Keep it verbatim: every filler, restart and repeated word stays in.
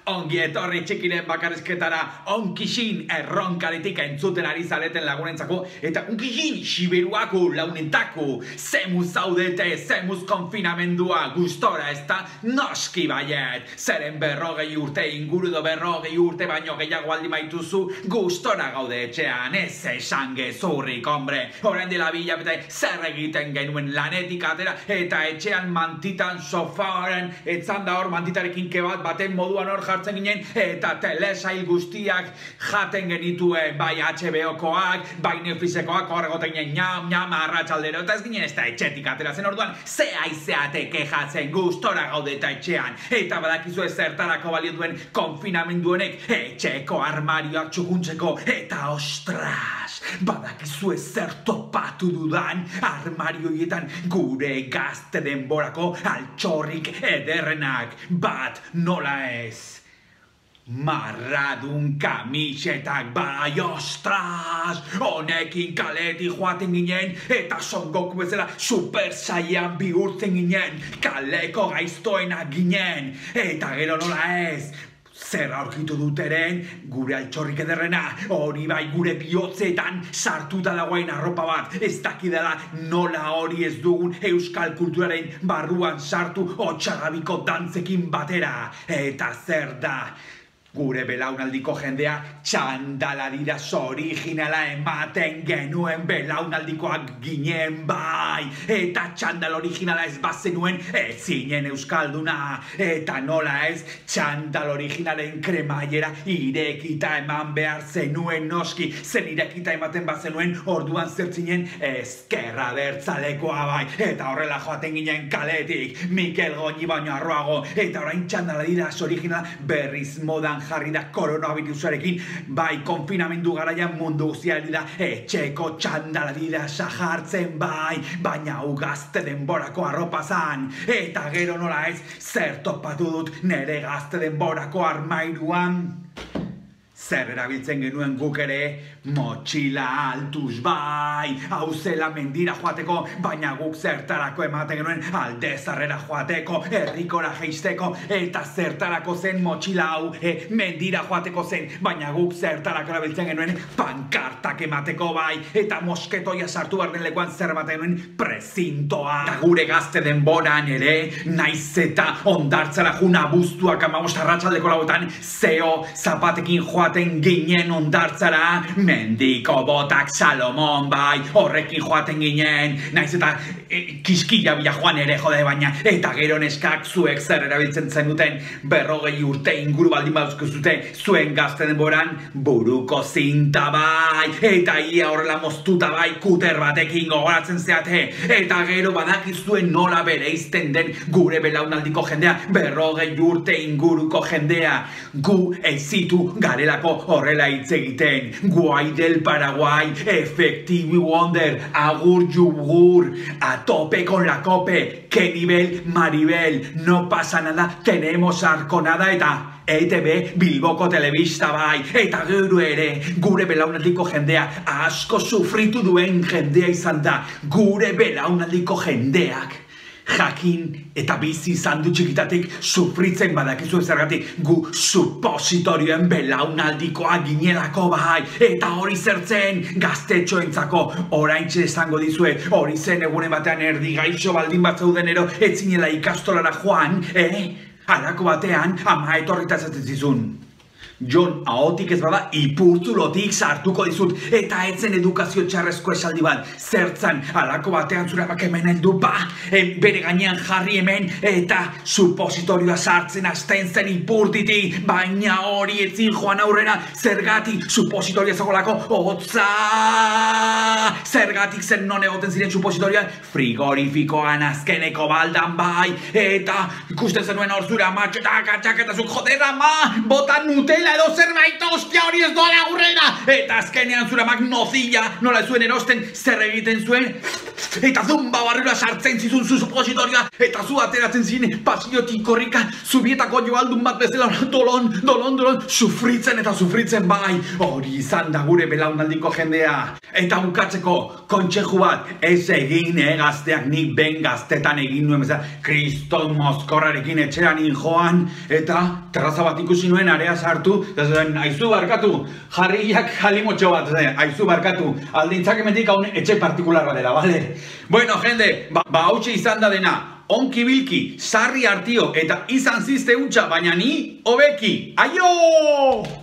Ongi etorri txikiren bakarrizketara, onkixin erronkaritik entzuten ari zareten lagunentzako, eta onkixin siberuako launentako, zemuz zaudete, zemuz konfinamendua, gustora ez da noski baiet, zeren berrogei urte inguru do berrogei urte baino gehiago aldi maituzu, gustora gaude etxean, ez esan gezurrik, hombre, horren dela bilabete zer egiten genuen lanetik atera, eta etxean mantitan sofaren, etzan da hor mantitarekin kebat baten moduan hor jartzen ginen, eta telesail guztiak jaten genituen, bai H B O-koak, bai Netflixekoak, horregoten ginen ñam, ñam, arratsaldero, eta ez ginen ez da etxetik ateratzen orduan, ze aizeate kejatzen gustora gaude eta etxean, eta badakizu ez zertarako balio duen konfinamendu honek, etxeko armarioak txukuntzeko, eta ostras, badakizu ez zer topatu dudan armarioietan gure gazte denborako altxorrik ederrenak, bat nola ez. Marradun kamisetak bai, ostras, honekin kaletik joaten ginen, eta Son Goku bezala super saiyan bihurtzen ginen, kaleko gaiztoenak ginen, eta gero nola ez, zer aurkitu duteren, gure altxorrik ederrena, hori bai gure bihotzetan sartuta dagoen arropa bat, ez dakidala nola hori ez dugun euskal kulturaren barruan sartu otxagabiko dantzekin batera, eta zer da, gure belaunaldiko jendea txandaladiraz originala ematen genuen belaunaldikoak ginen bai, eta txandal originala ez bazenuen ez zinen euskalduna, eta nola ez txandal originalen kremaiera irekita eman behar zenuen noski, zen irekita ematen bazenuen orduan zertzinen ezkerra bertzalekoa bai, eta horrela joaten ginen kaletik, Mikel Goñi baino arroago, eta orain txandaladiraz originala berriz modan jarri da koronavirusarekin, bai konfinamendu garaian mundu guztiari da etxeko txandaladira sajartzen bai, baina ugazte denborako arropa zan, eta gero nola ez zer topatu dut nere gazte denborako armairuan. Zer erabiltzen genuen guk ere, motxila altuz bai, hau zela mendira joateko, baina guk zertarako ematen genuen aldezarrera joateko, herrikora jeisteko, eta zertarako zen motxila hau e, mendira joateko zen, baina guk zertarako erabiltzen genuen pankartak emateko bai, eta mosketoia sartu behar den lekuan zer ematen genuen prezintoa. Eta gure gazte denboran ere, naiz eta ondartzara juna abuztuak amabost arratsaldeko lauetan, zeo zapatekin joaten ginen ondartzara, mendiko botak Salomon bai, horrekin joaten ginen, naiz eta e, kiskila bila joan ere jode baina, eta gero neskak zuek zer erabiltzen zenuten berrogei urte inguru baldin baduzko zute, zuen gazte denboran buruko zinta bai, eta ia horrela moztuta bai kuter batekin gogoratzen zeate, eta gero badakizuen nola bereizten den gure belaunaldiko jendea, berrogei urte inguruko jendea, gu ezitu garelako horrela hitz egiten, guai del Paraguay, Effective Wonder, agur yugur, a tope con la cope, que nivel Maribel, no pasa nada, tenemos arconada eta E T B Bilboko telebista bai, eta gero ere, gure belaunaldiko jendea, asko sufritu duen jendea izan da, gure belaunaldiko jendeak. Jakin eta bizi izan du txikitatik sufritzen badakizu zergatik gu supositorioen belaunaldikoa ginelako bai, eta hori zertzen gaztetxoentzako oraintxe esango dizuet, hori zen egunen batean erdi gaixo baldin bat zeudenero ez zinela ikastolara joan, eh? Halako batean ama etorrita esaten zizun. Jon, ahotik ez bada, ipurtzulotik sartuko dizut, eta etzen edukazio txarrezko esaldi bat, zertzan, halako batean zure amak hemen heldu, ba, bere gainean jarri hemen, eta supositorioa sartzen hasten zen ipurtiti, baina hori etzin joan aurrera, zergatik supositorioa zagolako, hotza, zergatik zen non egoten ziren supositorioan, frigorifikoan azkeneko baldan bai, eta ikusten zenuen hor zure amatxo, eta txaketazuk, joder ama, botan Nutella, edo zerbait ostia hori ez doala aurrera, eta azkenean zure amak nozilla nola zuen erosten zer egiten zuen, eta zumba barrura sartzen zizun zu supositorioa, eta zu ateratzen ziren pasiotik korrika, zubietako joaldun bat bezala dolon, dolon, dolon, sufritzen eta sufritzen bai, hori izan da gure belaunaldiko jendea. Eta bukatzeko, kontxeju bat, ez egin egazteak nik ben gaztetan egin nuen bezala, kriston mozkorrarekin etxeranin joan, eta terraza bat ikusi nuen area sartu, eta zen, aizu barkatu, jarriak jalimotxo bat, zen, aizu barkatu, aldintzak emendik haun etxe partikular bat dela, bale? Bueno, jende, ba, ba hautsi izan da dena, onki bilki, sarri hartio, eta izan zizte hutsa, baina ni hobeki. Aio!